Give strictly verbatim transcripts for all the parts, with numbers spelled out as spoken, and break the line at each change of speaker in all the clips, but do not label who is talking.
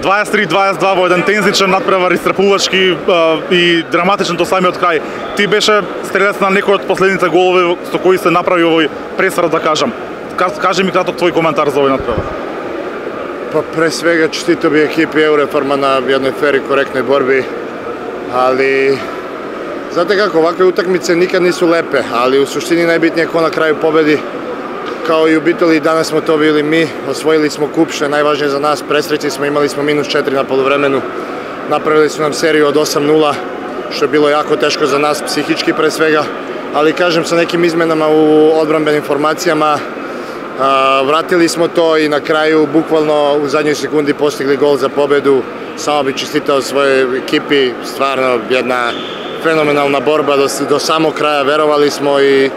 дваесет три дваесет два во еден тензичен надпревар, истрпувачки и драматичен до самиот крај. Ти беше стрелец на некој од последните голови со кои се направи овој пресврат, да кажам. Кажи ми краток твој коментар за овој надпревар.
Па пре свега честито би екипи Евреформа на едној фер и коректној борби, али знате како, вакви утакмице никад нису лепе, али у суштини најбитниот е кој на крају победи. Као и убители, данас смо то били ми, освоили смо куп, што е најважнije за нас, пресреќи смо, имали смо минус четири на полувремену, направили су нам серију од осам нула, што било јако тешко за нас, психички пред свега, али кажем со неким изменама у одбранбени формацијама, вратили смо то и на крају, буквално у задњој секунди постигли гол за победу. Само би честитao своје екипи, стварно една феноменална борба до, до само краја, веровали смо и,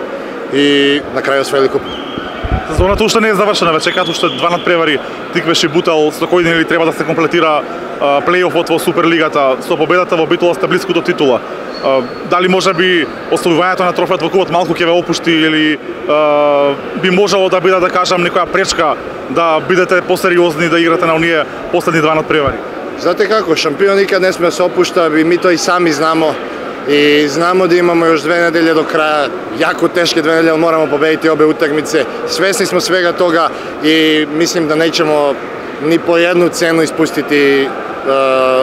и на крај освоили куп.
Сезоната уште не е завршена, веќе чекаат уште два надпревари, Тиквеш и Бутел, со кои ден треба да се комплетира плейофот во Суперлигата. Со победата во Битола сте близко до титула. Дали може би оставувањето на трофејот во купот малку ќе ве опушти или би можело да биде, да кажам, некоја пречка да бидете посериозни да играте на оние последни два надпревари?
Знаете како, шампион никад не сме се опушта, и ми тоа и сами знамо. И знамо да имамо још две недели до краја, јако тешки две недели, морамо победити обе утакмице. Свесни смо свега тога и мислим да неќемо ни по едну цену испустити е,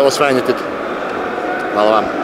освајање титул. Хвала вам.